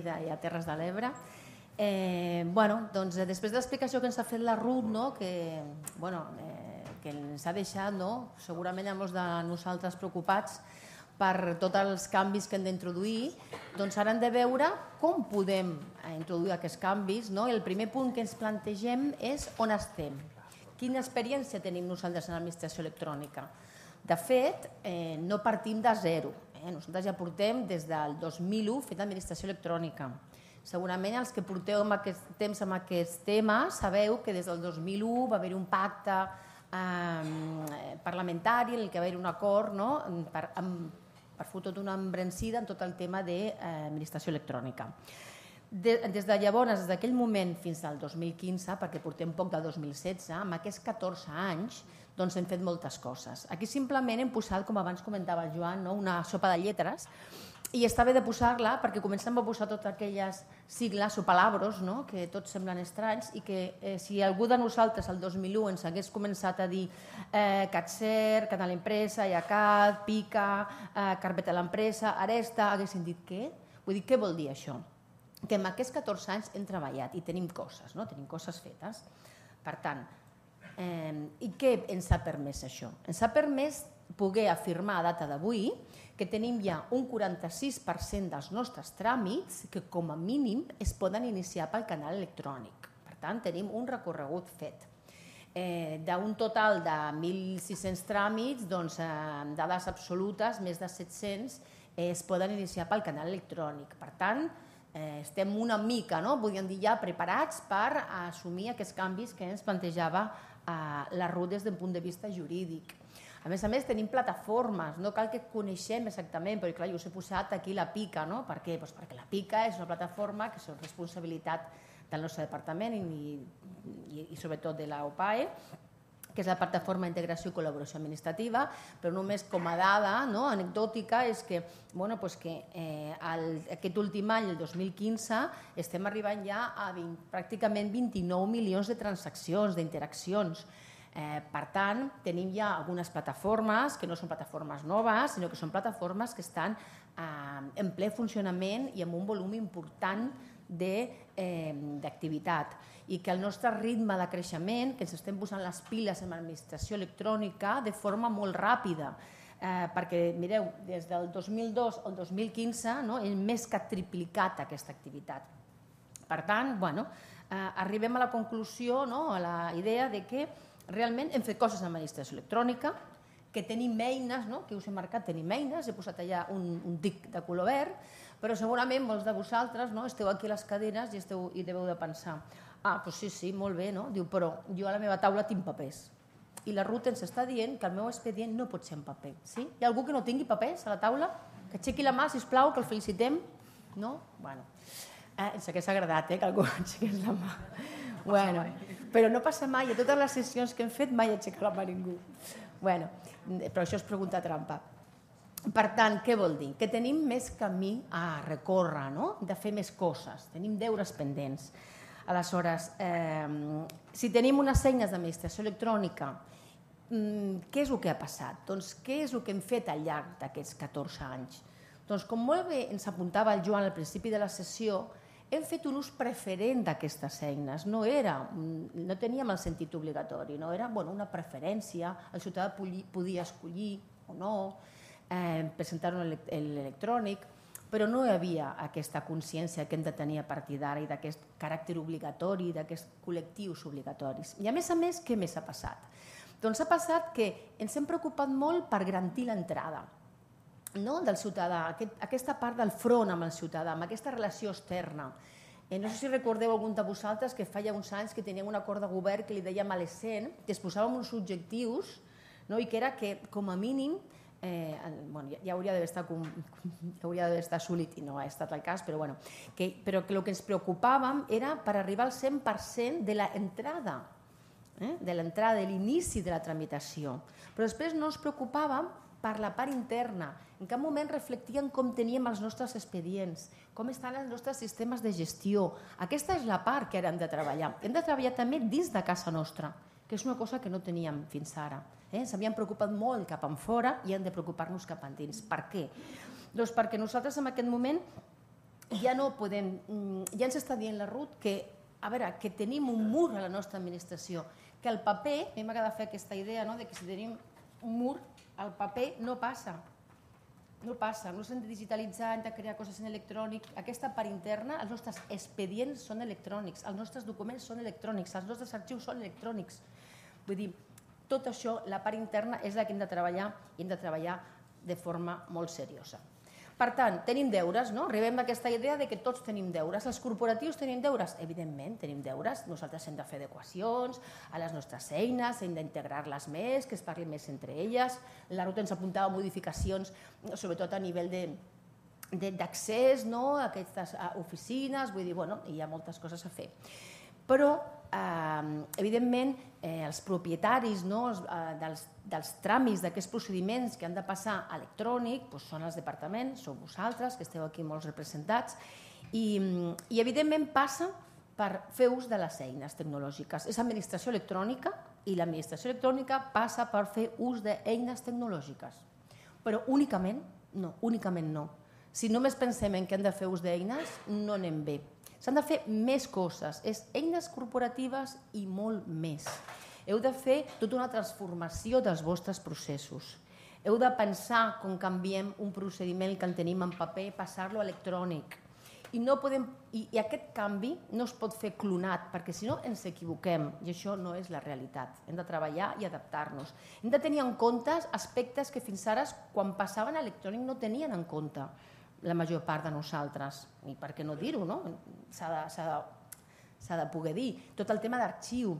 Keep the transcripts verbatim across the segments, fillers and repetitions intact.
i a Terres de l'Ebre. Eh, bueno, doncs, després de l'explicació que ens ha fet la Ruth, no, que, bueno, eh, que ens ha deixat, no, segurament hi ha molts de nosaltres preocupats per tots els canvis que hem d'introduir, doncs ara hem de veure com podem introduir aquests canvis. No? El primer punt que ens plantegem és on estem, quina experiència tenim nosaltres en l'administració electrònica. De fet, eh, no partim de zero. Eh? Nosaltres ja portem des del dos mil u fent administració electrònica. Segurament els que porteu amb aquest temps amb aquest tema sabeu que des del dos mil u va haver un pacte eh, parlamentari en el que va haver un acord, no? per, amb, per fer tota una embranzida en tot el tema d'administració electrònica. De, des de llavors, des d'aquell moment fins al dos mil quinze, perquè portem poc del dos mil setze, amb aquests catorze anys doncs hem fet moltes coses. Aquí simplement hem posat, com abans comentava el Joan, no? una sopa de lletres, i està bé de posar-la perquè comencem a posar totes aquelles sigles o palabros, no? que tots semblen estranys i que eh, si algú de nosaltres el dos mil u ens hagués començat a dir eh, CATSER, Canal Empresa, IACAT, PICA, eh, Carpeta de l'Empresa, Aresta, haguessin dit què? Vull dir, què vol dir això? Que en aquests catorze anys hem treballat i tenim coses, no? tenim coses fetes. Per tant, eh, i què ens ha permès això? Ens ha permès poder afirmar a data d'avui que tenim ja un quaranta-sis per cent dels nostres tràmits que com a mínim es poden iniciar pel canal electrònic. Per tant, tenim un recorregut fet. Eh, d'un total de mil sis-cents tràmits, doncs, eh, dades absolutes, més de set-cents, eh, es poden iniciar pel canal electrònic. Per tant, eh, estem una mica, no? podríem dir ja, preparats per assumir aquests canvis que ens plantejava eh, la Ruth des d'un punt de vista jurídic. A més a més, tenim plataformes, no cal que coneixem exactament, però clar, jo us he posat aquí la PICA, no? Per què? Doncs perquè la PICA és una plataforma que és responsabilitat del nostre departament i, i, i sobretot de la O P A E, que és la plataforma d'integració i col·laboració administrativa, però només com a dada no? anecdòtica és que, bueno, pues que eh, el, aquest últim any, el dos mil quinze, estem arribant ja a vint, pràcticament vint-i-nou milions de transaccions, d'interaccions. Eh, per tant, tenim ja algunes plataformes que no són plataformes noves, sinó que són plataformes que estan eh, en ple funcionament i amb un volum important d'activitat eh, i que el nostre ritme de creixement, que ens estem posant les piles en l'administració electrònica de forma molt ràpida, eh, perquè, mireu, des del dos mil dos al dos mil quinze no, hem més que triplicat aquesta activitat. Per tant, bueno, eh, arribem a la conclusió, no, a la idea de que realment hem fet coses en l'administració electrònica, que tenim eines, no? que us he marcat, tenim eines, he posat allà un, un tic de color verd, però segurament molts de vosaltres no? esteu aquí a les cadenes i, esteu, i deveu de pensar, ah, doncs sí, sí, molt bé, no? Diu, però jo a la meva taula tinc papers. I la Ruth ens està dient que el meu expedient no pot ser en paper. Sí? Hi ha algú que no tingui papers a la taula? Que aixequi la mà, sisplau, que el felicitem. No? Bueno, eh, ens hauria agradat eh, que algú aixequés la mà. Bueno, però no passa mai, a totes les sessions que hem fet mai aixeca la mà ningú. Bueno, però això és pregunta trampa. Per tant, què vol dir? Que tenim més camí a recórrer, no? de fer més coses, tenim deures pendents. Aleshores, eh, si tenim unes eines d'administració electrònica, què és el que ha passat? Doncs què és el que hem fet al llarg d'aquests catorze anys? Doncs com molt bé ens apuntava el Joan al principi de la sessió, hem fet un ús preferent d'aquestes eines. No, era, no teníem el sentit obligatori, no? Era bueno, una preferència, el ciutadà podia escollir o no, eh, presentar-ho en l'electrònic, però no hi havia aquesta consciència que hem de tenir a partir d'ara i d'aquest caràcter obligatori, d'aquests col·lectius obligatoris. I a més a més, què més ha passat? Doncs ha passat que ens hem preocupat molt per garantir l'entrada no? del ciutadà, aquest, aquesta part del front amb el ciutadà, amb aquesta relació externa. Eh, no sé si recordeu algun de vosaltres que fa ja uns anys que teníem un acord de govern que li dèiem a l'ESCEN, que es posàvem uns objectius no? i que era que, com a mínim, eh, bueno, ja, ja hauria d'haver estat, ja hauria d'haver estat assolit i no ha estat el cas, però, bueno, que, però que el que ens preocupàvem era per arribar al cent per cent de l'entrada, eh? de l'entrada, de l'inici de la tramitació. Però després no ens preocupàvem per la part interna. En cap moment reflectíem com teníem els nostres expedients, com estan els nostres sistemes de gestió. Aquesta és la part que ara hem de treballar. Hem de treballar també dins de casa nostra, que és una cosa que no teníem fins ara. Eh? S'havien preocupat molt cap enfora i hem de preocupar-nos cap endins. Per què? Doncs perquè nosaltres en aquest moment ja no podem, ja ens està dient la Ruth que, a veure, que tenim un mur a la nostra administració, que el paper, a mi m'agrada fer aquesta idea, no?, de que si tenim un mur, el paper no passa, no passa, no s'han de digitalitzar, hem de crear coses en electrònic, aquesta part interna, els nostres expedients són electrònics, els nostres documents són electrònics, els nostres arxius són electrònics, vull dir, tot això, la part interna és la que hem de treballar i hem de treballar de forma molt seriosa. Per tant, tenim deures, no? Arribem a aquesta idea de que tots tenim deures. Els corporatius tenim deures? Evidentment, tenim deures. Nosaltres hem de fer adequacions a les nostres eines, hem d'integrar-les més, que es parli més entre elles. La Ruth ens apuntava modificacions, sobretot a nivell d'accés a aquestes oficines, vull dir, bueno, hi ha moltes coses a fer. Però, evidentment, els propietaris dels tràmits d'aquests procediments que han de passar electrònic són els departaments, sou vosaltres, que esteu aquí molts representats, i evidentment passa per fer ús de les eines tecnològiques. És administració electrònica i l'administració electrònica passa per fer ús d'eines tecnològiques. Però únicament no, únicament no. Si només pensem en que hem de fer ús d'eines, no anem bé. S'han de fer més coses, és eines corporatives i molt més. Heu de fer tota una transformació dels vostres processos. Heu de pensar com canviem un procediment que en tenim en paper, passar-lo a electrònic. I, no podem, i, I aquest canvi no es pot fer clonat, perquè si no ens equivoquem, i això no és la realitat. Hem de treballar i adaptar-nos. Hem de tenir en compte aspectes que fins ara, quan passaven a electrònic, no tenien en compte la major part de nosaltres, i per què no dir-ho, no? S'ha de, s'ha de poder dir. Tot el tema d'arxiu,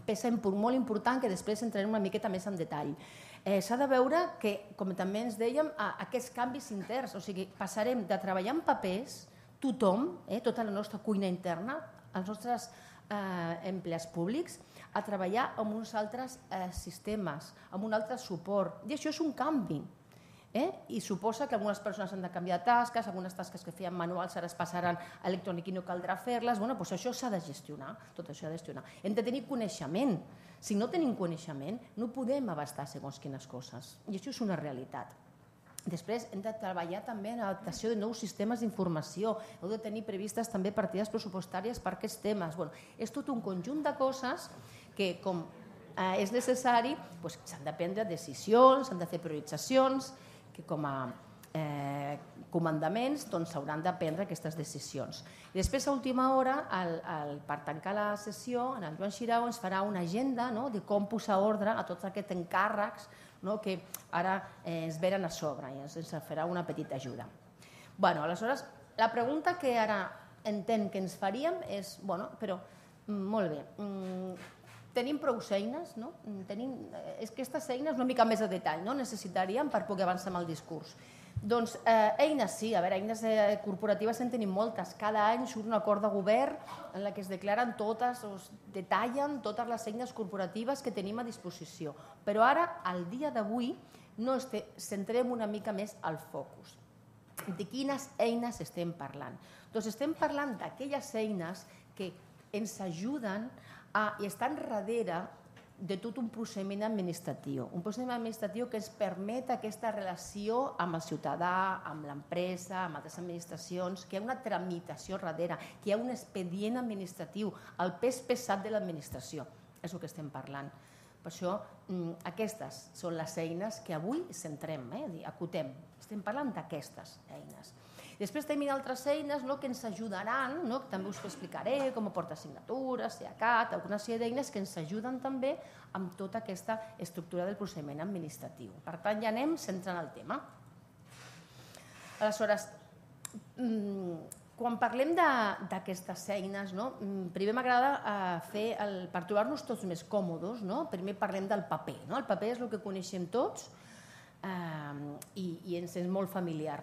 peça molt important que després entrarem una miqueta més en detall. Eh, s'ha de veure que, com també ens dèiem, aquests canvis interns, o sigui, passarem de treballar en papers, tothom, eh, tota la nostra cuina interna, els nostres eh, empleats públics, a treballar amb uns altres eh, sistemes, amb un altre suport. I això és un canvi. Eh? I suposa que algunes persones han de canviar de tasques, algunes tasques que feien manuals ara es passaran a electrònic i no caldrà fer-les. Bueno, doncs això s'ha de gestionar, tot això s'ha de gestionar. Hem de tenir coneixement. Si no tenim coneixement, no podem abastar segons quines coses. I això és una realitat. Després hem de treballar també en l'adaptació de nous sistemes d'informació. Heu de tenir previstes també partides pressupostàries per aquests temes. Bueno, és tot un conjunt de coses que, com eh, és necessari, doncs, s'han de prendre decisions, s'han de fer prioritzacions, que com a eh, comandaments s'hauran doncs, de prendre aquestes decisions. I després, a última hora, el, el, per tancar la sessió, en el Joan Xirau ens farà una agenda, no?, de com posar ordre a tots aquests encàrrecs, no?, que ara eh, ens venen a sobre i ens, ens farà una petita ajuda. Bueno, aleshores, la pregunta que ara entenc que ens faríem és, bueno, però, molt bé, mm, tenim prou eines, no? Tenim, és que aquestes eines una mica més de detall, no? Necessitaríem per poder avançar amb el discurs. Doncs eh, eines sí, a veure, eines eh, corporatives en tenim moltes. Cada any surt un acord de govern en la que es declaren totes, o es detallen totes les eines corporatives que tenim a disposició. Però ara, al dia d'avui, no este, centrem una mica més al focus. De quines eines estem parlant? Doncs estem parlant d'aquelles eines que ens ajuden a, i estan darrere de tot un procediment administratiu. Un procediment administratiu que ens permet aquesta relació amb el ciutadà, amb l'empresa, amb altres administracions, que hi ha una tramitació darrere, que hi ha un expedient administratiu, el pes pesat de l'administració. És el que estem parlant. Per això, aquestes són les eines que avui centrem, eh? Acotem. Estem parlant d'aquestes eines. Després tenim altres eines que ens ajudaran, també us ho explicaré, com a portasignatures, SEACAT, alguna sèrie d'eines que ens ajuden també amb tota aquesta estructura del procediment administratiu. Per tant, ja anem centrant el tema. Aleshores, quan parlem d'aquestes eines, primer m'agrada fer, per trobar-nos tots més còmodes, primer parlem del paper. El paper és el que coneixem tots, i ens és molt familiar.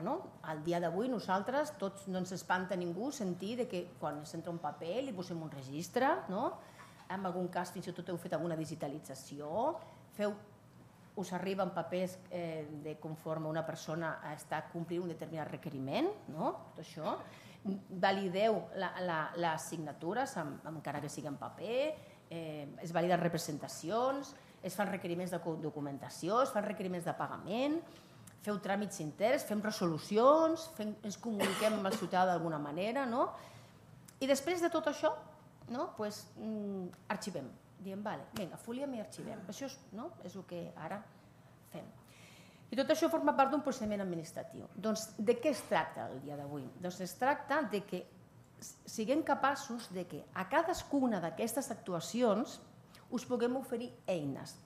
Al dia d'avui nosaltres tots no ens espanta ningú sentir que quan ens entra un paper li posem un registre, en algun cas fins i tot heu fet alguna digitalització, us arriben papers conforme una persona està complint un determinat requeriment, tot això, valideu les signatures encara que sigui en paper, es validen representacions, es fan requeriments de documentació, es fan requeriments de pagament, feu tràmits interns, fem resolucions, fem, ens comuniquem amb el ciutadà d'alguna manera, no? I després de tot això, no? Pues, mm, arxivem. Diem, vale, vinga, foliem i arxivem. Això és, no? És el que ara fem. I tot això forma part d'un procediment administratiu. Doncs de què es tracta el dia d'avui? Doncs es tracta de que siguem capaços de que a cadascuna d'aquestes actuacions us puguem oferir eines.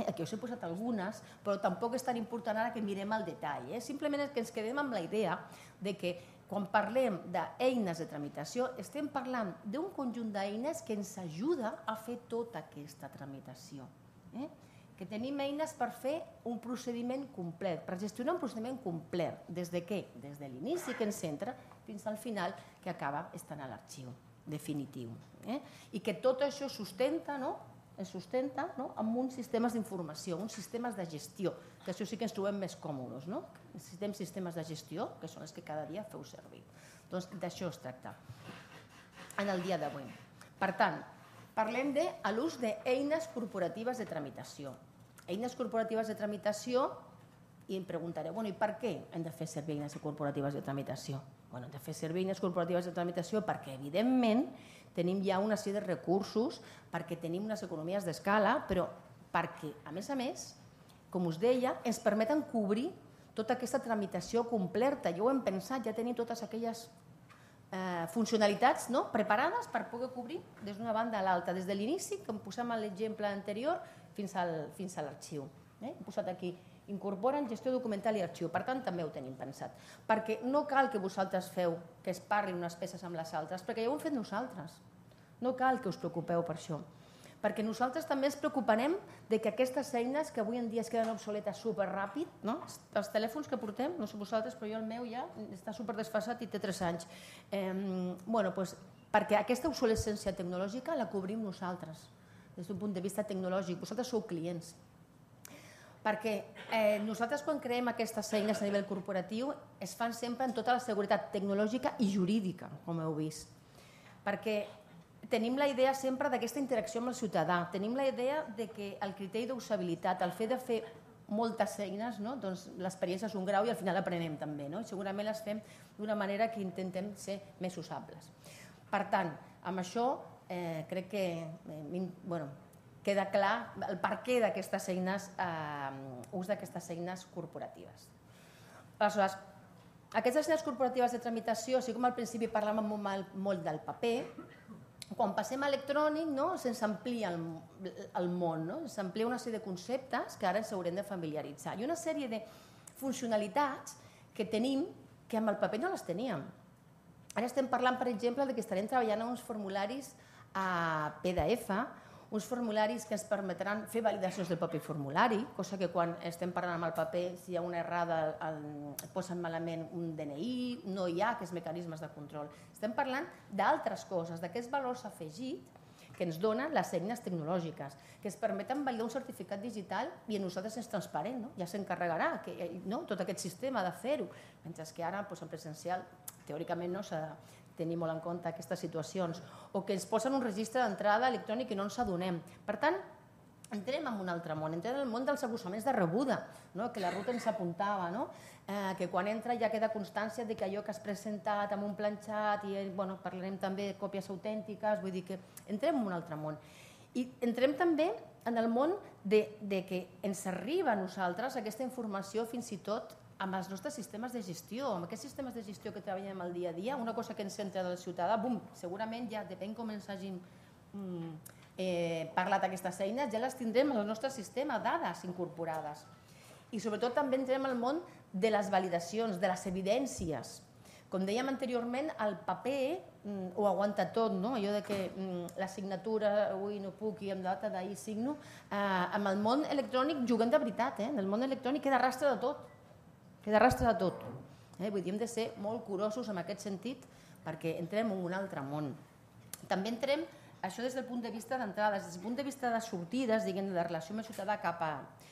Aquí us he posat algunes, però tampoc és tan important ara que mirem el detall. Eh? Simplement és que ens quedem amb la idea de que quan parlem d'eines de tramitació estem parlant d'un conjunt d'eines que ens ajuda a fer tota aquesta tramitació. Eh? Que tenim eines per fer un procediment complet, per gestionar un procediment complet. Des de què? Des de l'inici que ens entra fins al final que acaba estant a l'arxiu definitiu. Eh? I que tot això sustenta, no? es sustenta no? amb uns sistemes d'informació, uns sistemes de gestió, que això sí que ens trobem més còmodes. No? Necessitem sistemes de gestió, que són els que cada dia feu servir. Doncs d'això es tracta en el dia d'avui. Per tant, parlem de l'ús d'eines corporatives de tramitació. Eines corporatives de tramitació, i em preguntaré, bueno, i per què hem de fer servir eines corporatives de tramitació? Bueno, hem de fer servir eines corporatives de tramitació perquè, evidentment, tenim ja una sèrie de recursos, perquè tenim unes economies d'escala, però perquè, a més a més, com us deia, ens permeten cobrir tota aquesta tramitació completa. Ja ho hem pensat, ja tenim totes aquelles eh, funcionalitats no? preparades per poder cobrir des d'una banda a l'altra, des de l'inici, com posem a l'exemple anterior, fins, al, fins a l'arxiu. Eh? Hem posat aquí, incorporen gestió documental i arxiu, per tant també ho tenim pensat. Perquè no cal que vosaltres feu que es parlin unes peces amb les altres, perquè ja ho hem fet nosaltres. No cal que us preocupeu per això. Perquè nosaltres també ens preocuparem de que aquestes eines que avui en dia es queden obsoletes superràpid, no? Els telèfons que portem, no sé vosaltres, però jo el meu ja està superdesfasat i té tres anys. Eh, bueno, doncs, perquè aquesta obsolescència tecnològica la cobrim nosaltres, des d'un punt de vista tecnològic. Vosaltres sou clients. Perquè eh, nosaltres quan creem aquestes eines a nivell corporatiu es fan sempre amb tota la seguretat tecnològica i jurídica, com heu vist. Perquè tenim la idea sempre d'aquesta interacció amb el ciutadà, tenim la idea de que el criteri d'usabilitat, el fet de fer moltes eines, no? Doncs l'experiència és un grau i al final aprenem també, no? I segurament les fem d'una manera que intentem ser més usables. Per tant, amb això eh, crec que eh, bueno, queda clar el perquè d'aquestes eines, eh, ús d'aquestes eines corporatives. Aleshores, aquestes eines corporatives de tramitació, així com al principi parlàvem molt del paper, quan passem a electrònic no, se'ns amplia el, el món, no? S'amplia una sèrie de conceptes que ara ens haurem de familiaritzar i una sèrie de funcionalitats que tenim que amb el paper no les teníem. Ara estem parlant, per exemple, de que estarem treballant en uns formularis a P D F, uns formularis que ens permetran fer validacions del propi formulari, cosa que quan estem parlant amb el paper, si hi ha una errada, el posen malament un D N I, no hi ha aquests mecanismes de control. Estem parlant d'altres coses, d'aquests valors afegits que ens donen les eines tecnològiques, que ens permeten validar un certificat digital i a nosaltres és transparent, no? Ja s'encarregarà no? tot aquest sistema de fer-ho, mentre que ara doncs, en presencial teòricament no s'ha de tenir molt en compte aquestes situacions, o que ens posen un registre d'entrada electrònic i no ens adonem. Per tant, entrem en un altre món, entrem en el món dels abussaments de rebuda, no? Que la Ruth ens apuntava, no? eh, que quan entra ja queda constància de que allò que has presentat amb un planxat, i bueno, parlarem també de còpies autèntiques, vull dir que entrem en un altre món. I entrem també en el món de, de que ens arriba a nosaltres aquesta informació fins i tot amb els nostres sistemes de gestió, amb aquests sistemes de gestió que treballem el dia a dia, una cosa que ens entra del ciutadà, bum, segurament ja depèn com ens hagin mm, eh, parlat aquestes eines, ja les tindrem en el nostre sistema, dades incorporades. I sobretot també entrem al món de les validacions, de les evidències. Com dèiem anteriorment, el paper mm, ho aguanta tot, no? Allò de que mm, la signatura, avui no puc i amb data d'ahir signo, eh, amb el món electrònic juguem de veritat, eh? En el món electrònic queda rastre de tot. Queda rastre de tot. Eh? Vull dir, hem de ser molt curosos en aquest sentit perquè entrem en un altre món. També entrem, això des del punt de vista d'entrades, des del punt de vista de sortides, diguem, de relació amb el ciutadà cap a...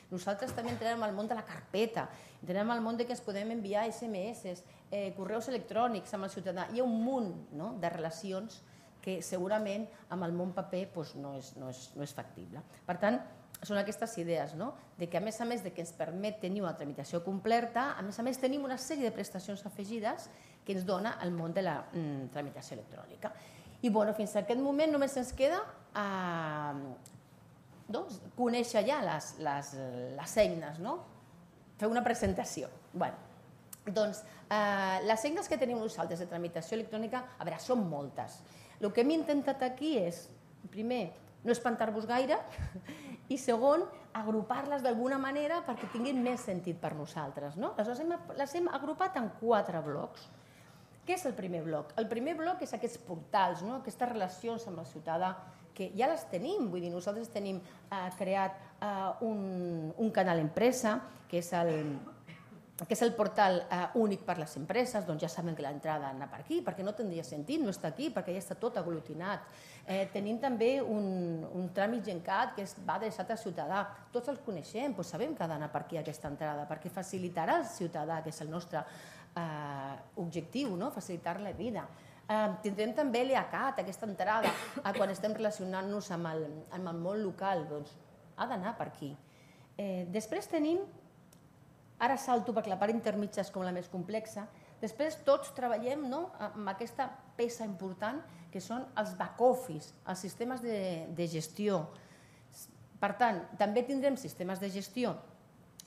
Nosaltres també entrem al món de la carpeta, entrem al món de que ens podem enviar S M S, eh, correus electrònics amb el ciutadà. Hi ha un munt no? de relacions que segurament amb el món paper doncs, no, és, no, és, no és factible. Per tant, són aquestes idees, de que a més a més de que ens permet tenir una tramitació completa, a més a més tenim una sèrie de prestacions afegides que ens dona el món de la tramitació electrònica. I fins a aquest moment només ens queda conèixer ja les eines, fer una presentació. Doncs les eines que tenim nosaltres de tramitació electrònica, a veure, són moltes. El que hem intentat aquí és, primer, no espantar-vos gaire, i segon, agrupar-les d'alguna manera perquè tinguin més sentit per nosaltres. Aleshores, les hem agrupat en quatre blocs. Què és el primer bloc? El primer bloc és aquests portals, aquestes relacions amb el ciutadà, que ja les tenim. Vull dir, nosaltres tenim creat un canal empresa, que és el que és el portal únic per a les empreses, doncs ja saben que l'entrada anar per aquí, perquè no tindria sentit no estar aquí, perquè ja està tot aglutinat. Tenim també un tràmit Gencat que va adreçat al ciutadà. Tots els coneixem, doncs sabem que ha d'anar per aquí aquesta entrada, perquè facilitarà al ciutadà, que és el nostre objectiu, facilitar-li la vida. Tindrem també l'E A C A T, aquesta entrada, quan estem relacionant-nos amb el món local, doncs ha d'anar per aquí. Després tenim, ara salto perquè la part intermitja és com la més complexa, després tots treballem amb aquesta peça important que són els back-office, els sistemes de gestió. Per tant, també tindrem sistemes de gestió,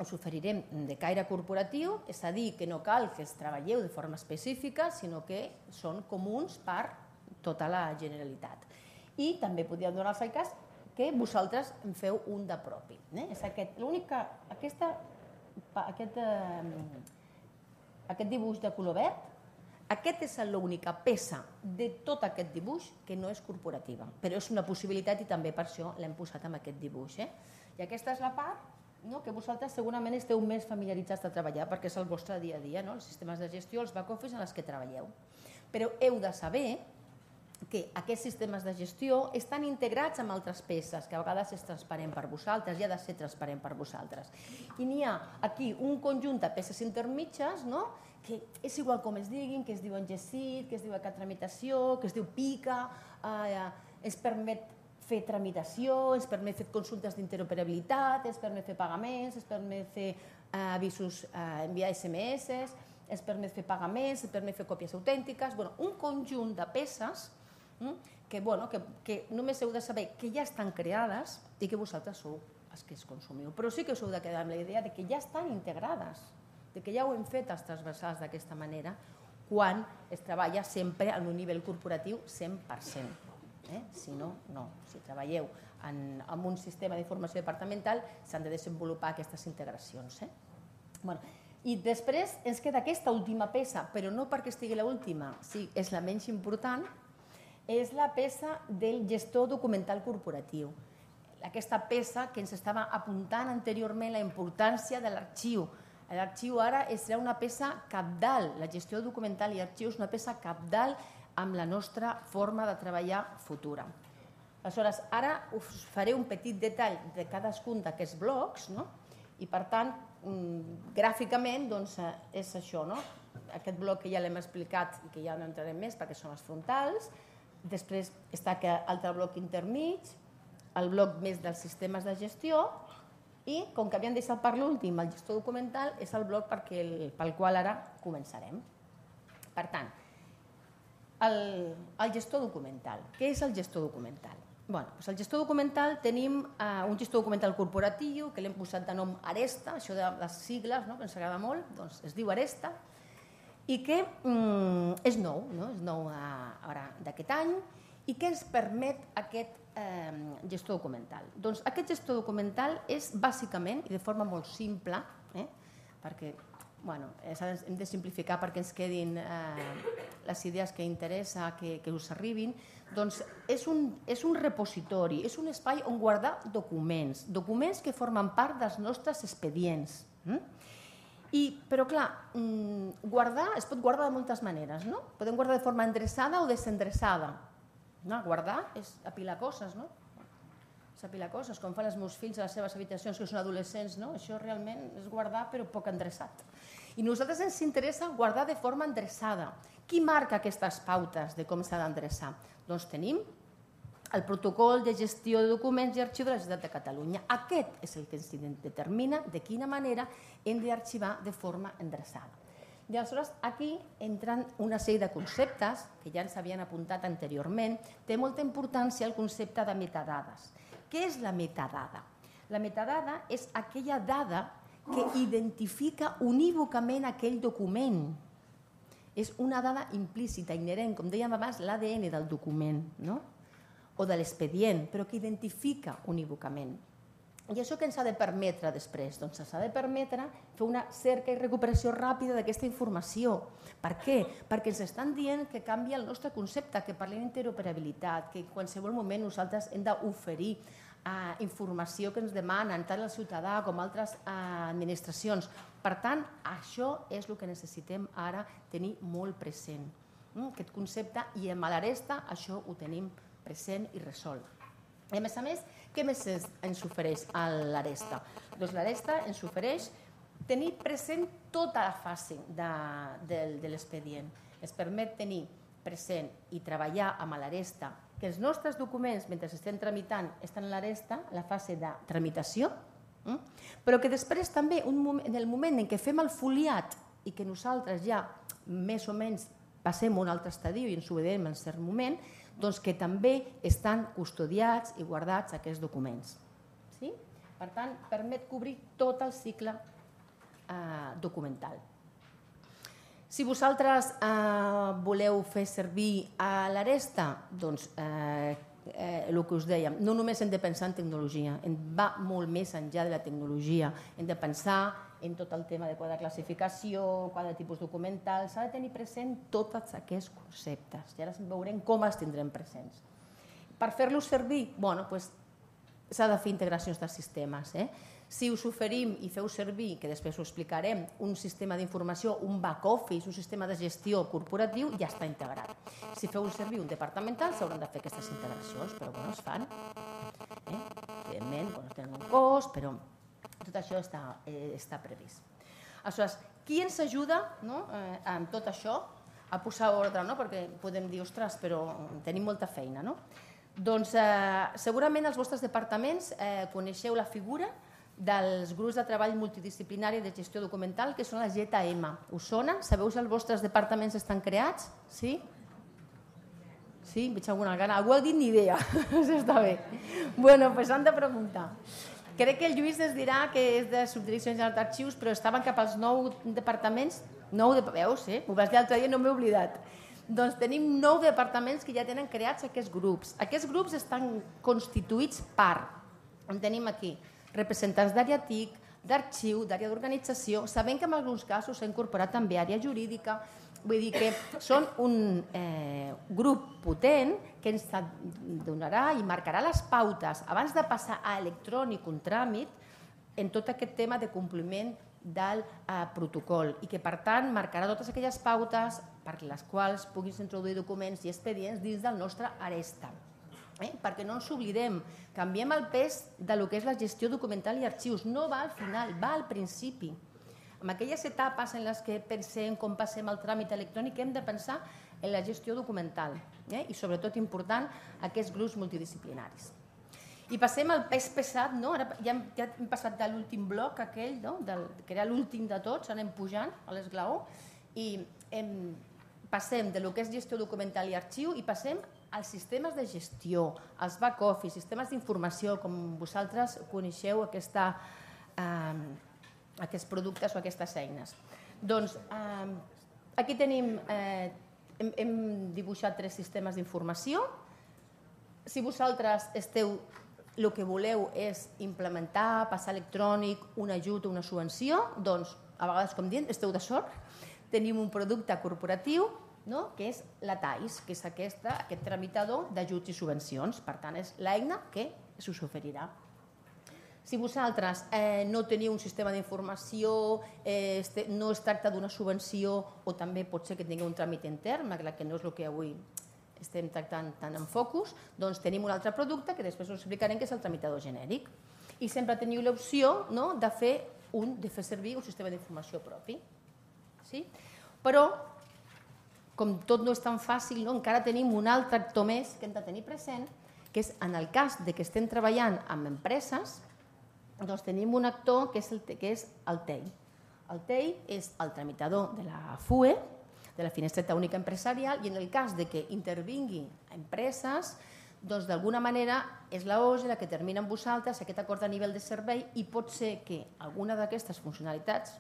us oferirem de caire corporatiu, és a dir, que no cal que els treballeu de forma específica, sinó que són comuns per tota la Generalitat. I també podríem donar-vos el cas que vosaltres en feu un de propi. L'únic que aquesta aquest dibuix de color verd, aquest és l'única peça de tot aquest dibuix que no és corporativa, però és una possibilitat i també per això l'hem posat amb aquest dibuix. I aquesta és la part que vosaltres segurament esteu més familiaritzats de treballar perquè és el vostre dia a dia, els sistemes de gestió, els back-office en els que treballeu. Però heu de saber que aquests sistemes de gestió estan integrats amb altres peces, que a vegades és transparent per vosaltres i ha de ser transparent per vosaltres. I n'hi ha aquí un conjunt de peces intermitges, que és igual com es diguin, que es diuen Gesit, que es diu Cat Tramitació, que es diu Pica, es permet fer tramitació, es permet fer consultes d'interoperabilitat, es permet fer pagaments, es permet fer avisos, enviar S M S, es permet fer pagaments, es permet fer còpies autèntiques, un conjunt de peces que només heu de saber que ja estan creades i que vosaltres sou els que es consumiu. Però sí que us heu de quedar amb la idea que ja estan integrades, que ja ho hem fet els transversals d'aquesta manera, quan es treballa sempre en un nivell corporatiu cent per cent. Si no, no. Si treballeu en un sistema d'informació departamental, s'han de desenvolupar aquestes integracions. I després ens queda aquesta última peça, però no perquè estigui l'última, sí, és la menys important, és la peça del gestor documental corporatiu. Aquesta peça que ens estava apuntant anteriorment la importància de l'arxiu. L'arxiu ara serà una peça cabdal, la gestió documental i arxiu és una peça cabdal amb la nostra forma de treballar futura. Aleshores, ara us faré un petit detall de cadascun d'aquests blocs i, per tant, gràficament és això. Aquest bloc que ja l'hem explicat i que ja no entrarem més perquè són els frontals. Després està aquest altre bloc intermig, el bloc més dels sistemes de gestió i, com que havíem deixat per l'últim, el gestor documental és el bloc pel qual ara començarem. Per tant, el gestor documental. Què és el gestor documental? El gestor documental tenim un gestor documental corporatiu que l'hem posat de nom Aresta, això de les sigles que ens agrada molt, es diu Aresta, i que és nou, és nou d'aquest any, i què ens permet aquest gestor documental? Doncs aquest gestor documental és bàsicament, i de forma molt simple, perquè hem de simplificar perquè ens quedin les idees que interessa que us arribin, doncs és un repositori, és un espai on guardar documents, documents que formen part dels nostres expedients. Però, clar, guardar es pot guardar de moltes maneres, no? Podem guardar de forma endreçada o desendreçada. Guardar és apilar coses, no? És apilar coses, com fan els meus fills a les seves habitacions, que són adolescents, no? Això realment és guardar, però poc endreçat. I a nosaltres ens interessa guardar de forma endreçada. Qui marca aquestes pautes de com s'ha d'endreçar? Doncs tenim el protocol de gestió de documents i arxiu de la Generalitat de Catalunya. Aquest és el que ens determina de quina manera hem d'arxivar de forma endreçada. I aleshores aquí entren una sèrie de conceptes que ja ens havien apuntat anteriorment. Té molta importància el concepte de metadades. Què és la metadada? La metadada és aquella dada que identifica unívocament aquell document. És una dada implícita, inherent, com dèiem abans, l'A D N del document, no? O de l'expedient, però que identifica unívocament. I això què ens ha de permetre després? Doncs ens ha de permetre fer una cerca i recuperació ràpida d'aquesta informació. Per què? Perquè ens estan dient que canvia el nostre concepte, que parlem d'interoperabilitat, que en qualsevol moment nosaltres hem d'oferir informació que ens demanen tant el ciutadà com altres administracions. Per tant, això és el que necessitem ara tenir molt present. Aquest concepte, i amb l'Aresta això ho tenim present i resolt. I a més a més, què més ens ofereix l'Aresta? Doncs l'Aresta ens ofereix tenir present tota la fase de l'expedient. Ens permet tenir present i treballar amb l'Aresta que els nostres documents, mentre estem tramitant, estan a l'Aresta, la fase de tramitació, però que després també, en el moment en què fem el foliat i que nosaltres ja més o menys passem un altre estadi i ens ho veiem en cert moment, doncs que també estan custodiats i guardats aquests documents. Per tant, permet cobrir tot el cicle documental. Si vosaltres voleu fer servir l'Aresta, doncs el que us dèiem, no només hem de pensar en tecnologia, va molt més enllà de la tecnologia, hem de pensar en tot el tema de quadre de classificació, quadre de tipus documental, s'ha de tenir present tots aquests conceptes i ara veurem com els tindrem presents. Per fer-los servir, s'ha de fer integracions de sistemes. Si us oferim i feu servir, que després ho explicarem, un sistema d'informació, un back-office, un sistema de gestió corporatiu, ja està integrat. Si feu servir un departamental, s'hauran de fer aquestes integracions, però es fan. Evidentment, tenen un cost, però tot això està previst. Aleshores, qui ens ajuda amb tot això a posar ordre? Perquè podem dir, ostres, però tenim molta feina. Doncs segurament els vostres departaments coneixeu la figura dels grups de treball multidisciplinari de gestió documental, que són la G T M. Us sona? Sabeu si els vostres departaments estan creats? Sí? Sí? Veig alguna gana. Algú ha dit ni idea. Això està bé. Bé, doncs han de preguntar. Crec que el Lluís ens dirà que és de Subdirecció General d'Arxius, però estaven cap als nou departaments. Nou de... Veus, eh? Ho vas dir l'altre dia i no m'he oblidat. Doncs tenim nou departaments que ja tenen creats aquests grups. Aquests grups estan constituïts per... En tenim aquí representants d'àrea T I C, d'arxiu, d'àrea d'organització. Sabem que en alguns casos s'ha incorporat també àrea jurídica. Vull dir que són un grup potent que ens donarà i marcarà les pautes abans de passar a electrònic un tràmit en tot aquest tema de compliment del protocol i que, per tant, marcarà totes aquelles pautes per les quals puguis introduir documents i expedients dins del nostre Aresta. Perquè no ens oblidem, canviem el pes del que és la gestió documental i arxius. No va al final, va al principi. En aquelles etapes en les que pensem com passem el tràmit electrònic hem de pensar en la gestió documental i, sobretot, important, aquests grups multidisciplinaris. I passem al pes pesat, ja hem passat de l'últim bloc aquell, que era l'últim de tots, anem pujant a l'esglaó, i passem de lo que és gestió documental i arxiu i passem als sistemes de gestió, als back-office, sistemes d'informació, com vosaltres coneixeu aquests productes o aquestes eines. Doncs aquí tenim, hem dibuixat tres sistemes d'informació. Si vosaltres esteu, el que voleu és implementar, passar electrònic, un ajut o una subvenció, doncs, a vegades, com diem, esteu de sort. Tenim un producte corporatiu, que és la T A I S, que és aquest tramitador d'ajuts i subvencions. Per tant, és l'eina que s'us oferirà. Si vosaltres no teniu un sistema d'informació, no es tracta d'una subvenció o també pot ser que tingueu un tràmit intern, que no és el que avui estem tractant tant en focus, doncs tenim un altre producte que després us explicarem, que és el tramitador genèric. I sempre teniu l'opció de fer servir un sistema d'informació propi. Però, com tot no és tan fàcil, encara tenim un altre actor més que hem de tenir present, que és en el cas de que estem treballant amb empreses, doncs tenim un actor que és el, que és el T E I. El T E I és el tramitador de la F U E, de la Finestreta Única Empresarial, i en el cas de que intervingui empreses, doncs d'alguna manera és la O S E la que termina amb vosaltres aquest acord a nivell de servei i pot ser que alguna d'aquestes funcionalitats,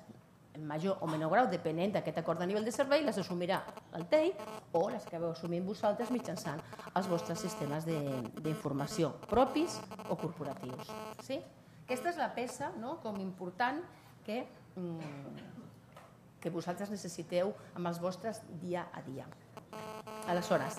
en major o menor grau, depenent d'aquest acord a nivell de servei, les assumirà el T E I o les que veu assumint vosaltres mitjançant els vostres sistemes d'informació propis o corporatius. Aquesta és la peça com important que que vosaltres necessiteu amb els vostres dia a dia. Aleshores,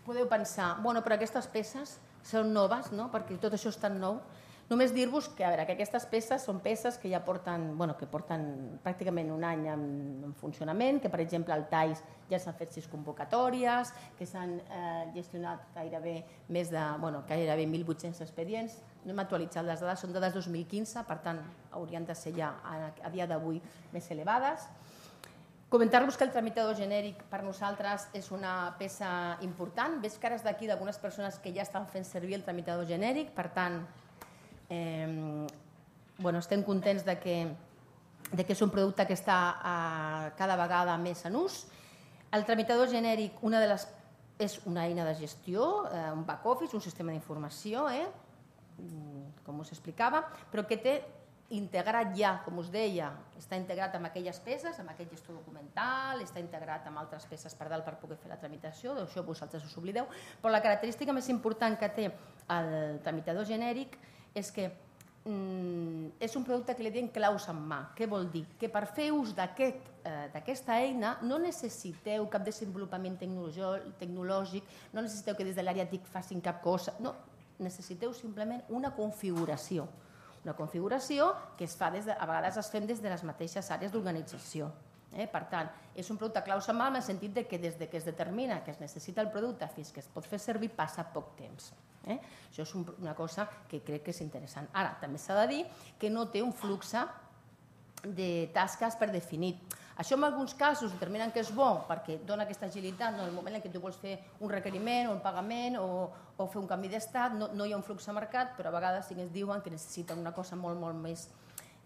podeu pensar, bueno, però aquestes peces són noves, no? Perquè tot això és tan nou. Només dir-vos que, a veure, que aquestes peces són peces que ja porten, bueno, que porten pràcticament un any en, en funcionament, que per exemple al T A I S ja s'han fet sis convocatòries, que s'han eh, gestionat gairebé més de, bueno, gairebé mil vuit-cents expedients. No hem actualitzat les dades, són dades dos mil quinze, per tant haurien de ser ja a, a dia d'avui més elevades. Comentar-vos que el tramitador genèric per nosaltres és una peça important. Veig cares d'aquí d'algunes persones que ja estan fent servir el tramitador genèric, per tant, eh, bueno, estem contents de que, de que és un producte que està eh, cada vegada més en ús. El tramitador genèric una de les, és una eina de gestió, eh, un back-office, un sistema d'informació, eh, com us explicava, però que té integrat ja, com us deia, està integrat amb aquelles peces, amb aquest gestor documental, està integrat amb altres peces per dalt per poder fer la tramitació, d'això vosaltres us oblideu, però la característica més important que té el tramitador genèric és que mm, és un producte que li diem claus en mà. Què vol dir? Que per fer ús d'aquesta aquest, eh, eina no necessiteu cap desenvolupament tecnològic, no necessiteu que des de l'àrea T I C facin cap cosa, no, necessiteu simplement una configuració. Una configuració que es fa des de, a vegades es fem des de les mateixes àrees d'organització. Eh? Per tant, és un producte claus en mà en el sentit de que des de que es determina que es necessita el producte fins que es pot fer servir passa poc temps. Eh? Això és un, una cosa que crec que és interessant. Ara, també s'ha de dir que no té un flux de tasques per definit. Això en alguns casos determinen que és bo perquè dona aquesta agilitat en el moment en què tu vols fer un requeriment o un pagament o, o fer un canvi d'estat, no, no hi ha un flux a mercat, però a vegades sí que ens diuen que necessiten una cosa molt, molt més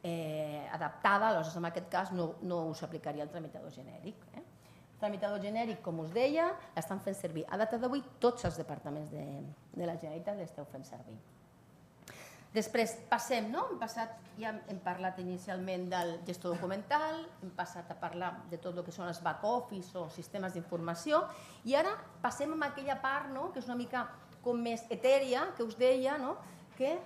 eh, adaptada, aleshores en aquest cas no, no us aplicaria el tramitador genèric. Eh? El tramitador genèric, com us deia, l'estan fent servir. A data d'avui tots els departaments de, de la Generalitat l'esteu fent servir. Després passem, no? Hem passat, ja hem parlat inicialment del gestor documental, hem passat a parlar de tot el que són els back-office o sistemes d'informació i ara passem a aquella part no? Que és una mica com més etèria, que us deia, no? que,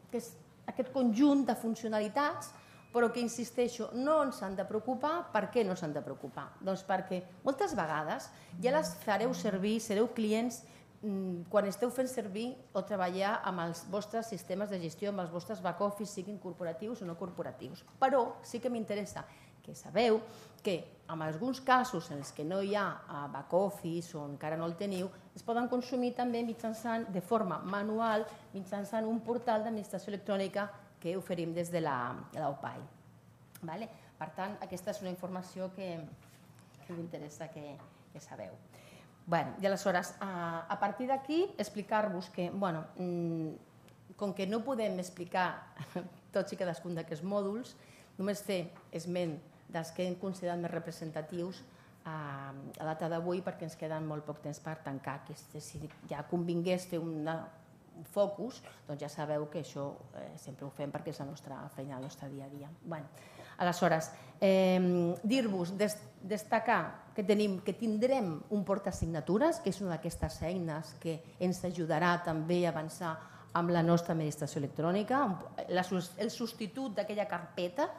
que és aquest conjunt de funcionalitats, però que, insisteixo, no ens han de preocupar. Per què no s'han de preocupar? Doncs perquè moltes vegades ja les fareu servir, sereu clients quan esteu fent servir o treballar amb els vostres sistemes de gestió, amb els vostres back-office, siguin corporatius o no corporatius. Però sí que m'interessa que sabeu que en alguns casos en els que no hi ha back-office o encara no el teniu, es poden consumir també mitjançant, de forma manual, mitjançant un portal d'administració electrònica que oferim des de la O P A I. Per tant, aquesta és una informació que m'interessa que sabeu. I aleshores, a partir d'aquí, explicar-vos que, com que no podem explicar tots i cadascun d'aquests mòduls, només fer esment dels que hem considerat més representatius a data d'avui perquè ens queden molt poc temps per tancar. Si ja convingués fer un focus, doncs ja sabeu que això sempre ho fem perquè és la nostra feina, el nostre dia a dia. Aleshores, dir-vos, destacar que tindrem un portaassignatures, que és una d'aquestes eines que ens ajudarà també a avançar amb la nostra administració electrònica, el substitut d'aquella carpeta,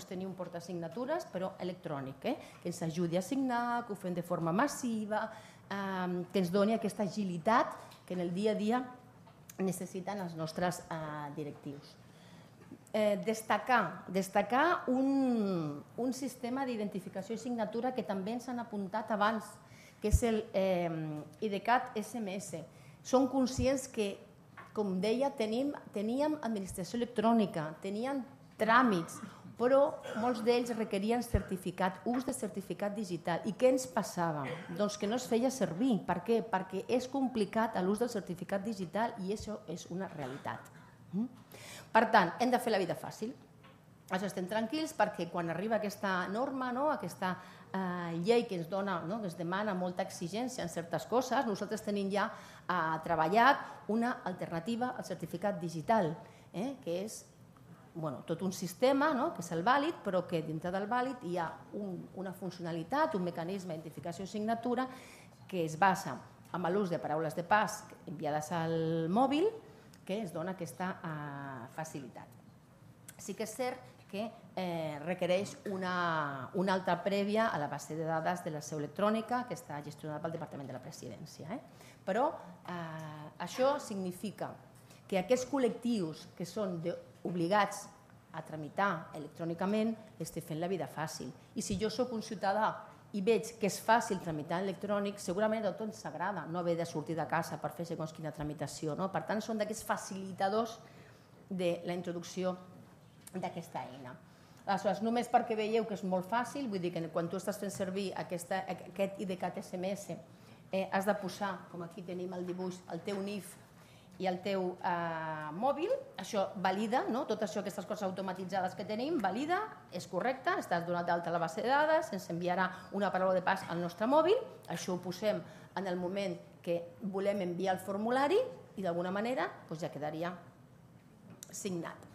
tenir un portaassignatures però electrònic, que ens ajudi a assignar, que ho fem de forma massiva, que ens doni aquesta agilitat que en el dia a dia necessiten els nostres directius. Destacar, destacar un sistema d'identificació i signatura que també ens han apuntat abans, que és el IDCAT S M S. Som conscients que, com deia, teníem administració electrònica, teníem tràmits, però molts d'ells requerien certificat, ús de certificat digital. I què ens passava? Doncs que no es feia servir. Per què? Perquè és complicat l'ús del certificat digital i això és una realitat. Per tant, hem de fer la vida fàcil. Això estem tranquils perquè quan arriba aquesta norma, aquesta llei que ens dona, que ens demana molta exigència en certes coses, nosaltres tenim ja treballat una alternativa al certificat digital, que és tot un sistema, que és el vàlid, però que dintre del vàlid hi ha una funcionalitat, un mecanisme d'identificació i signatura que es basa en l'ús de paraules de pas enviades al mòbil que es dona aquesta facilitat. Sí que és cert que requereix una alta prèvia a la base de dades de la seu electrònica que està gestionada pel Departament de la Presidència. Però això significa que aquests col·lectius que són obligats a tramitar electrònicament estic fent la vida fàcil. I si jo soc un ciutadà i veig que és fàcil tramitar en electrònic, segurament a tots ens agrada no haver de sortir de casa per fer segons quina tramitació. Per tant, són d'aquests facilitadors de la introducció d'aquesta eina. Aleshores, només perquè veieu que és molt fàcil, vull dir que quan tu estàs fent servir aquest IDCAT S M S has de posar, com aquí tenim el dibuix, el teu N I F i el teu mòbil, això valida, tot això, aquestes coses automatitzades que tenim, valida, és correcte, estàs donat d'alta a la base de dades, ens enviarà una paraula de pas al nostre mòbil, això ho posem en el moment que volem enviar el formulari i d'alguna manera ja quedaria signat.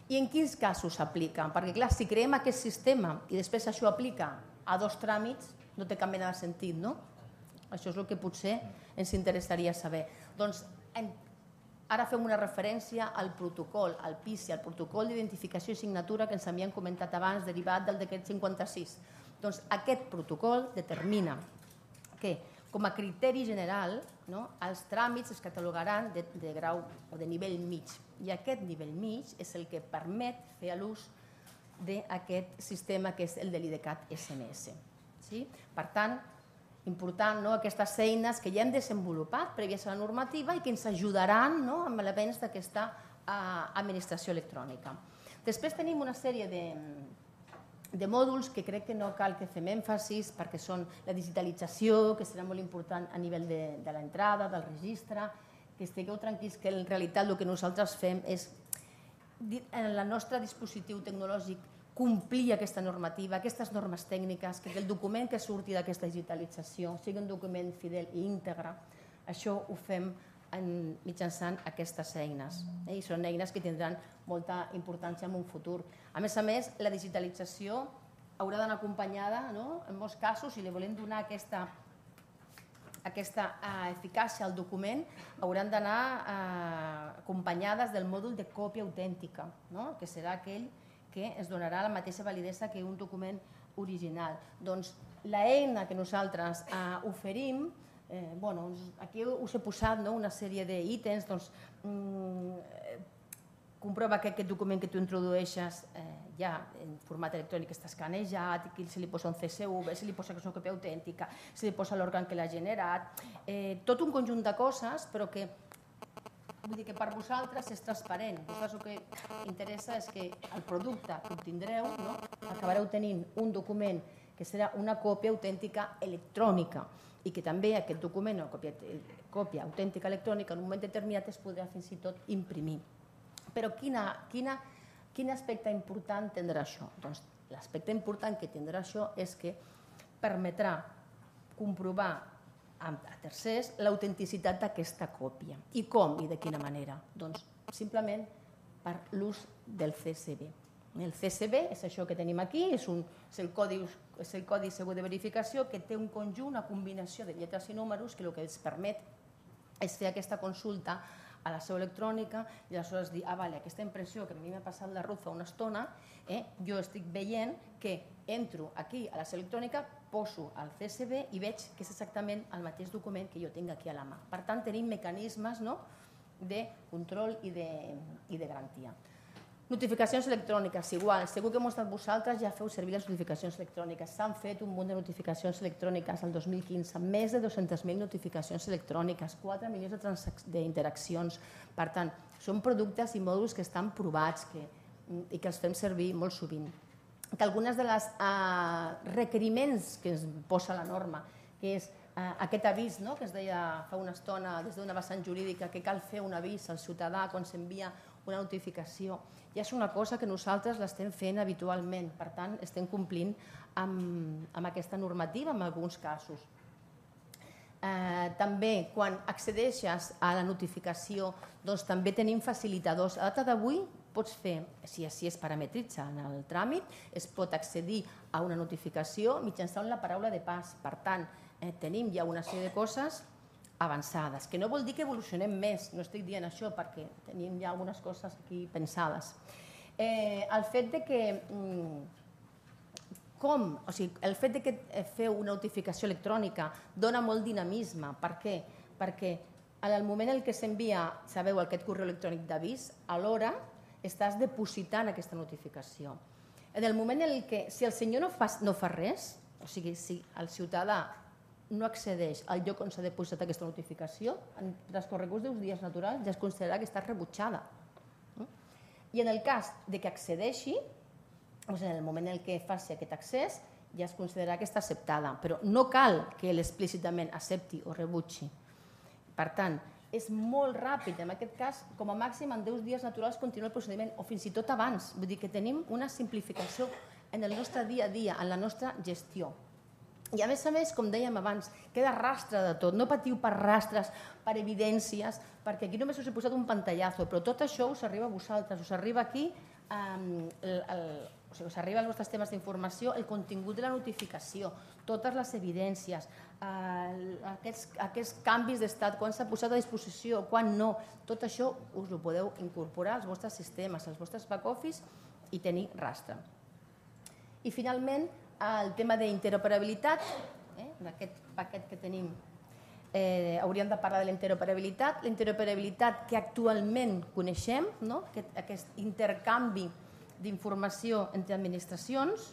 I en quins casos s'aplica? Perquè clar, si creem aquest sistema i després això aplica a dos tràmits, no té cap mena de sentit, no? Això és el que potser ens interessaria saber. Doncs ara fem una referència al protocol, al P I S I, al protocol d'identificació i signatura que ens havien comentat abans, derivat del decret cinquanta-sis. Doncs aquest protocol determina que, com a criteri general, els tràmits es catalogaran de grau o de nivell mig. I aquest nivell mig és el que permet fer l'ús d'aquest sistema que és el de l'IDCAT S M S. Per tant, important aquestes eines que ja hem desenvolupat prèvies a la normativa i que ens ajudaran amb elements d'aquesta administració electrònica. Després tenim una sèrie de mòduls que crec que no cal que fem èmfasis perquè són la digitalització, que serà molt important a nivell de l'entrada, del registre, que estigueu tranquils que en realitat el que nosaltres fem és, en el nostre dispositiu tecnològic, complir aquesta normativa, aquestes normes tècniques, que el document que surti d'aquesta digitalització sigui un document fidel i íntegre. Això ho fem mitjançant aquestes eines. I són eines que tindran molta importància en un futur. A més a més, la digitalització haurà d'anar acompanyada, en molts casos, si li volem donar aquesta eficàcia al document, hauran d'anar acompanyades del mòdul de còpia autèntica, que serà aquell que es donarà la mateixa validesa que un document original. Doncs l'eina que nosaltres oferim, aquí us he posat una sèrie d'ítems, comprova que aquest document que tu introdueixes ja en format electrònic està escanejat, se li posa un C S V, se li posa que és una còpia autèntica, se li posa l'òrgan que l'ha generat, tot un conjunt de coses, però que vull dir que per vosaltres és transparent. Vosaltres el que interessa és que el producte que obtindreu acabareu tenint un document que serà una còpia autèntica electrònica i que també aquest document, o còpia autèntica electrònica, en un moment determinat es podrà fins i tot imprimir. Però quin aspecte important tindrà això? Doncs l'aspecte important que tindrà això és que permetrà comprovar a tercers l'autenticitat d'aquesta còpia. I com i de quina manera? Doncs simplement per l'ús del C S V. El C S V és això que tenim aquí, és el codi segur de verificació que té un conjunt, una combinació de lletres i números que el que ens permet és fer aquesta consulta a la seu electrònica i aleshores dir, ah, vale, aquesta impressió que a mi m'ha passat la Ruth fa una estona, jo estic veient que entro aquí a la seu electrònica, poso el C S V i veig que és exactament el mateix document que jo tinc aquí a la mà. Per tant, tenim mecanismes de control i de garantia. Notificacions electròniques, igual. Segur que molts de vosaltres ja feu servir les notificacions electròniques. S'han fet un munt de notificacions electròniques el dos mil quinze, més de dues-centes mil notificacions electròniques, quatre milions d'interaccions. Per tant, són productes i mòduls que estan provats i que els fem servir molt sovint. que algunes de les requeriments que es posa la norma, que és aquest avís que es deia fa una estona des d'una vessant jurídica, que cal fer un avís al ciutadà quan s'envia una notificació, ja és una cosa que nosaltres l'estem fent habitualment, per tant estem complint amb aquesta normativa en alguns casos. També quan accedeixes a la notificació doncs també tenim facilitadors. A data d'avui pots fer, si així es parametritza en el tràmit, es pot accedir a una notificació mitjançant la paraula de pas. Per tant, tenim ja una sèrie de coses avançades, que no vol dir que evolucionem més, no estic dient això perquè tenim ja algunes coses aquí pensades. El fet de que com, o sigui, el fet de que feu una notificació electrònica dona molt dinamisme. Per què? Perquè en el moment en què s'envia, sabeu, aquest correu electrònic d'avís, alhora estàs depositant aquesta notificació. En el moment en què, si el senyor no fa res, o sigui, si el ciutadà no accedeix al lloc on s'ha depositat aquesta notificació, en transcorreguts d'uns dies naturals ja es considera que està rebutjada. I en el cas que accedeixi, en el moment en què faci aquest accés, ja es considera que està acceptada, però no cal que ell explícitament accepti o rebutgi. Per tant, és molt ràpid, en aquest cas, com a màxim en deu dies naturals continua el procediment, o fins i tot abans, vull dir que tenim una simplificació en el nostre dia a dia, en la nostra gestió. I a més a més, com dèiem abans, queda rastre de tot, no patiu per rastres, per evidències, perquè aquí només us he posat un pantallazo, però tot això us arriba a vosaltres, us arriba aquí, us arriba als vostres temes d'informació, el contingut de la notificació, totes les evidències, aquests canvis d'estat, quan s'ha posat a disposició, quan no, tot això us ho podeu incorporar als vostres sistemes, als vostres back-office i tenir rastre. I finalment, el tema d'interoperabilitat, d'aquest paquet que tenim, hauríem de parlar de la interoperabilitat. La interoperabilitat que actualment coneixem, aquest intercanvi d'informació entre administracions,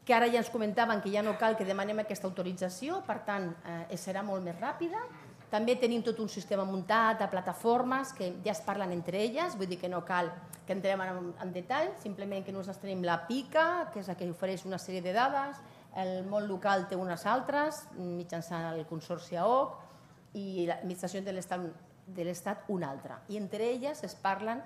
que ara ja ens comentaven que ja no cal que demanem aquesta autorització, per tant, serà molt més ràpida. També tenim tot un sistema muntat de plataformes que ja es parlen entre elles, vull dir que no cal que entrem en detall, simplement que nosaltres tenim la PICA, que és la que ofereix una sèrie de dades, el món local té unes altres, mitjançant el Consorci A O C, i l'administració de l'Estat una altra. I entre elles es parlen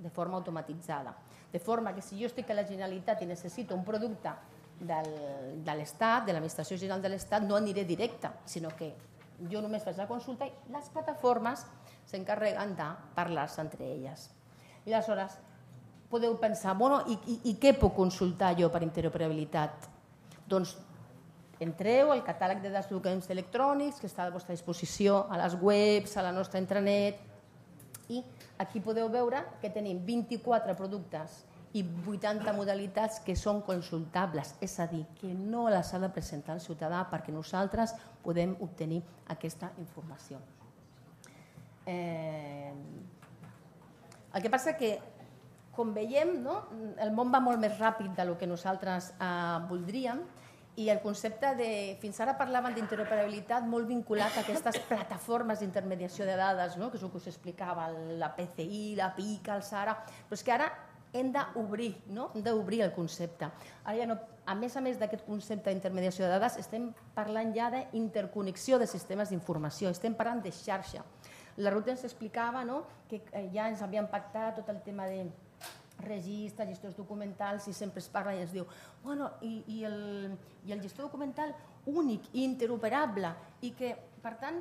de forma automatitzada. De forma que si jo estic a la Generalitat i necessito un producte de l'Estat, de l'Administració General de l'Estat, no aniré directe, sinó que jo només faig la consulta i les plataformes s'encarreguen de parlar-se entre elles. I aleshores podeu pensar, bueno, i què puc consultar jo per interoperabilitat? Doncs entreu al catàleg de documents electrònics que està a la vostra disposició, a les webs, a la nostra intranet, i aquí podeu veure que tenim vint-i-quatre productes i vuitanta modalitats que són consultables, és a dir, que no les ha de presentar el ciutadà perquè nosaltres podem obtenir aquesta informació. El que passa que, com veiem, el món va molt més ràpid del que nosaltres voldríem i el concepte de, fins ara parlaven d'interoperabilitat molt vinculat a aquestes plataformes d'intermediació de dades, que és el que us explicava, la P C I, la PICA, el SARA, però és que ara hem d'obrir, hem d'obrir el concepte. A més a més d'aquest concepte d'intermediació de dades, estem parlant ja d'interconnexió de sistemes d'informació, estem parlant de xarxa. La Ruth ens explicava que ja ens havien pactat tot el tema de registres, gestors documentals, i sempre es parla i es diu bueno, i el gestor documental únic i interoperable, i que, per tant,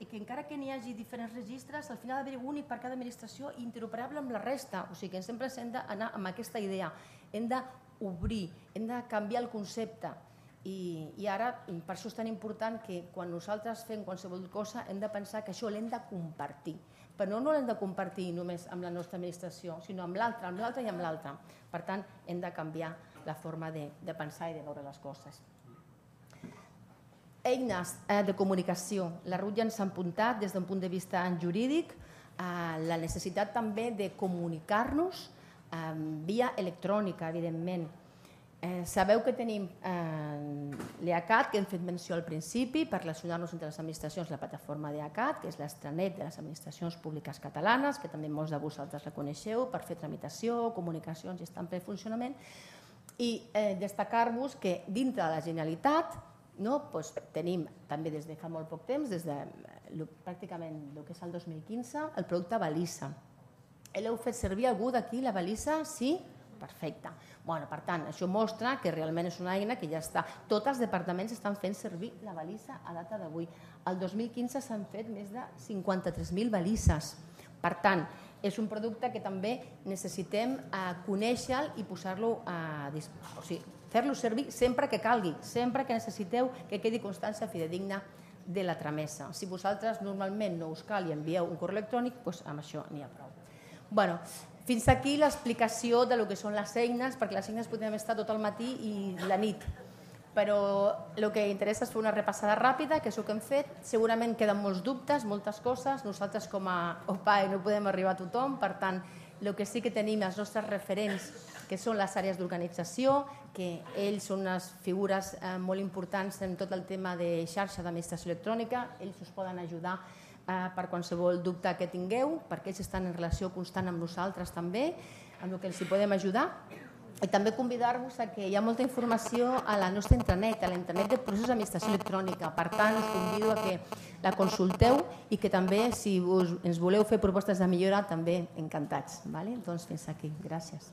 i que encara que n'hi hagi diferents registres, al final ha d'haver-hi únic per cada administració i interoperable amb la resta. O sigui que sempre hem d'anar amb aquesta idea. Hem d'obrir, hem de canviar el concepte. I ara, per això és tan important que quan nosaltres fem qualsevol cosa hem de pensar que això l'hem de compartir. Però no l'hem de compartir només amb la nostra administració, sinó amb l'altra, amb l'altra i amb l'altra. Per tant, hem de canviar la forma de pensar i de veure les coses. Eines de comunicació. La Ruth ja ens ha apuntat des d'un punt de vista jurídic la necessitat també de comunicar-nos via electrònica, evidentment. Sabeu que tenim l'EACAT, que hem fet menció al principi, per relacionar-nos entre les administracions, la plataforma d'EACAT, que és l'extranet de les administracions públiques catalanes, que també molts de vosaltres la coneixeu, per fer tramitació, comunicacions i està en ple funcionament. I destacar-vos que dintre de la Generalitat tenim també des de fa molt poc temps, des de pràcticament el que és el dos mil quinze, el producte Balisa. L'heu fet servir algú d'aquí, la Balisa? Sí? Perfecte. Per tant, això mostra que realment és una eina que ja està. Tots els departaments estan fent servir la balisa a data d'avui. El dos mil quinze s'han fet més de cinquanta-tres mil balises. Per tant, és un producte que també necessitem conèixer-lo i posar-lo a disposició. O sigui, fer-lo servir sempre que calgui, sempre que necessiteu que quedi constància fidedigna de la tramesa. Si vosaltres normalment no us cal i envieu un correu electrònic, doncs amb això n'hi ha prou. Bé, fins aquí l'explicació del que són les eines, perquè les eines podem estar tot el matí i la nit. Però el que interessa és fer una repassada ràpida, que és el que hem fet. Segurament queden molts dubtes, moltes coses. Nosaltres com a O P A E no podem arribar a tothom, per tant, el que sí que tenim els nostres referents, que són les àrees d'organització, que ells són unes figures molt importants en tot el tema de xarxa d'administració electrònica, ells us poden ajudar per qualsevol dubte que tingueu, perquè ells estan en relació constant amb nosaltres també, amb el que els hi podem ajudar. I també convidar-vos a que hi ha molta informació a la nostra intranet, a la intranet de processos d'administració electrònica. Per tant, us convido a que la consulteu i que també, si ens voleu fer propostes de millora, també encantats. Doncs fins aquí. Gràcies.